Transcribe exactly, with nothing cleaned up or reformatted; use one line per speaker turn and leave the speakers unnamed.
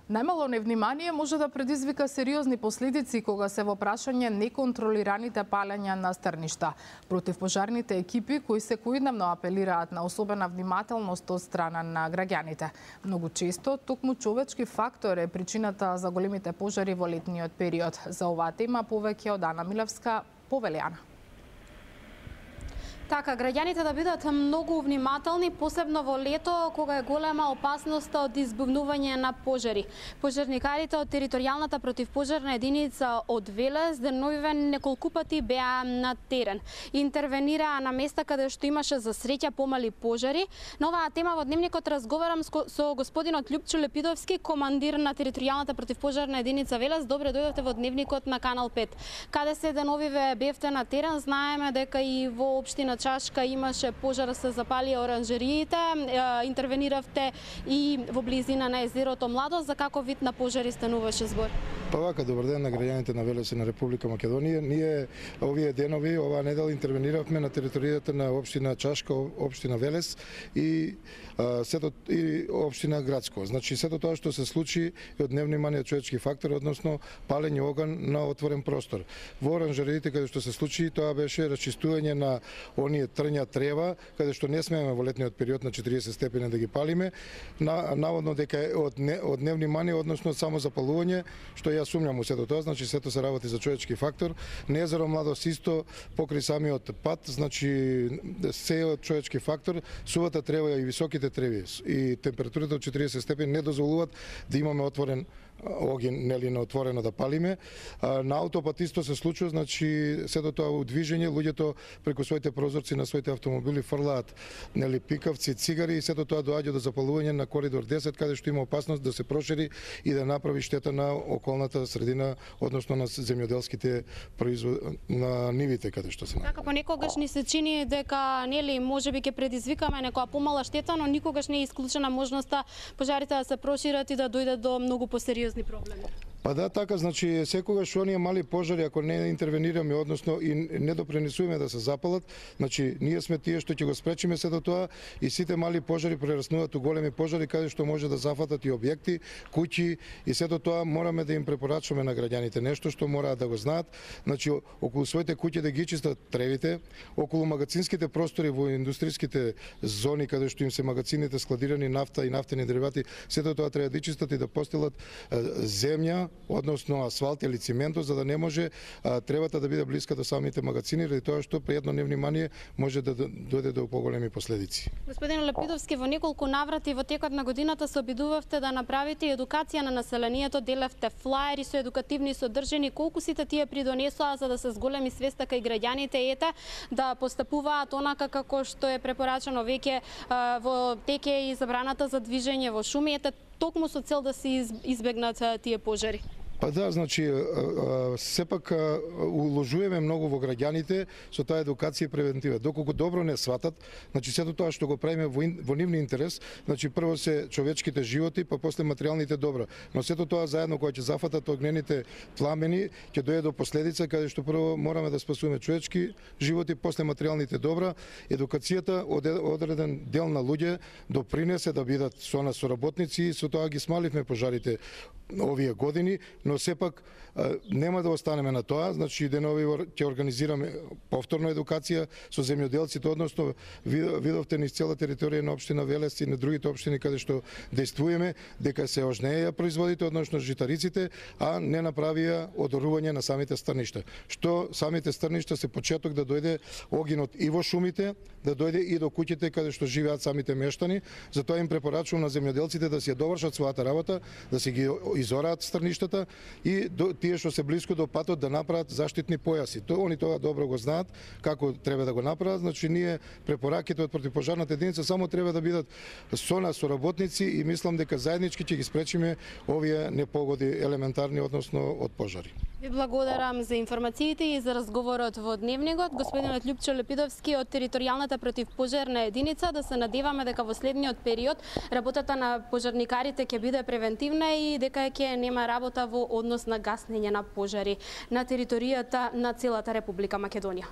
Најмало невнимание може да предизвика сериозни последици кога се во прашање неконтролираните палења на стрништа. Противпожарните екипи кои секојдневно апелираат на особена внимателност од страна на граѓаните. Многу често токму човечки фактор е причината за големите пожари во летниот период. За оваа тема повеќе од Ана Милевска, повелиана.
Така, граѓаните да бидат многу внимателни, посебно во лето, кога е голема опасноста од избувнување на пожари. Пожарникарите од територијалната противпожарна единица од Велес деновивен неколку пати беа на терен. Интервенираа на места каде што имаше за среќа помали пожари. На оваа тема во дневникот разговарам со господинот Љупчо Лепидовски, командир на територијалната противпожарна единица Велес. Добре дојдовте во дневникот на Канал пет. Каде се деновиве бевте на терен? Знаеме дека и во општина Чашка имаше пожар, се запали оранжериите, интервениравте и во близина на езерото Младост. За каков вид на пожари стануваше збор?
Па вака, добар ден на граѓаните на Велес и на Република Македонија. Ние овие денови, оваа недела интервениравме на територијата на општина Чашка, општина Велес и а, сето и општина Градско. Значи сето тоа што се случи е од невнимание човечки фактор, односно палење оган на отворен простор. Во оранжериите каде што се случи, тоа беше расчистување на оние трња трева, каде што не смееме во летниот период на четириесет степени да ги палиме, на, наводно дека е од, не, од невнимание, односно само запалување, што ја сумњам у сето тоа, значи сето се работи за човечки фактор. На езеро Младост исто покрај самиот пат, значи се од човечки фактор, сувата трева и високите треви и температурата од четириесет степени не дозволуваат да имаме отворен оген, нели на отворено да палиме. А, на аутопат исто се случува, значи сето тоа у движење, луѓето преку своите прозорци на своите автомобили фрлаат нели пикавци, цигари и сето тоа доаѓа до запалување на коридор десет, каде што има опасност да се прошири и да направи штета на околната средина, односно на земјоделските производ на нивите каде што се наоѓа.
Така понекогаш ни се чини дека нели можеби ќе предизвикаме некоја помала штета, но никогаш не е исклучена можноста пожарите да се прошират и да дојде до многу посериозни проблеми.
Па да, така, значи секогаш оние мали пожари, ако не интервенираме, односно и не допринесуваме да се запалат, значи ние сме тие што ќе го спречиме сето тоа и сите мали пожари прераснуваат у големи пожари каде што може да зафатат и објекти, куќи и сето тоа мораме да им препорачуваме на граѓаните. Нешто што мораат да го знаат, значи околу своите куќи да ги чистат тревите, околу магацинските простори во индустријските зони каде што им се магацините складирани нафта и нафтени деривати, сето тоа треба да чистат и да постелат земја, односно асфалт или циментот, за да не може а, тревата да биде блиска до самите магацини, ради тоа што при едно невнимание може да дојде до поголеми последици.
Господин Лепидовски, во неколку наврати во текот на годината се обидувавте да направите едукација на населението, делевте флаери со едукативни содржини. Колку сите тие придонесоа за да се зголеми свеста кај граѓаните ете да постапуваат онака како што е препорачано веќе во теке и забраната за движење во шуми, ете токму со цел да се избегнат тие пожари?
Па да, значи, сепак уложуваме многу во граѓаните со таа едукација и превентива. Доколку добро не сватат, значи сето тоа што го правиме во, во нивни интерес, значи прво се човечките животи, па после материјалните добра. Но сето тоа заедно кога ќе зафатат огнените пламени, ќе дојде до последица каде што прво мораме да спасуваме човечки животи, после материјалните добра. Едукацијата од одреден дел на луѓе допринесе да бидат со нас соработници и со тоа ги смаливме пожарите овие години, но сепак нема да останеме на тоа, значи денови ќе организираме повторно едукација со земјоделците, односно видовте низ цела територија на општина Велес и на другите општини каде што действуваме, дека се ожнеја производите, односно житариците, а не направија одорување на самите стрништа. Што самите стрништа се почеток да дојде огинот и во шумите, да дојде и до куќите каде што живеат самите мештани. Затоа им препорачувам на земјоделците да си ја довршат својата работа, да си ги изораат стрништата и до, тие што се блиску до патот да направат заштитни појаси. То они тоа добро го знаат како треба да го направат, значи ние препораките од противпожарната единица само треба да бидат со нас соработници и мислам дека заеднички ќе ги спречиме овие непогоди елементарни, односно од пожари.
Ви благодарам за информациите и за разговорот во дневникот. Господинот Љупчо Лепидовски од територијалната противпожарна единица, да се надеваме дека во следниот период работата на пожарникарите ќе биде превентивна и дека ќе нема работа во однос на гаснење на пожари на територијата на целата Република Македонија.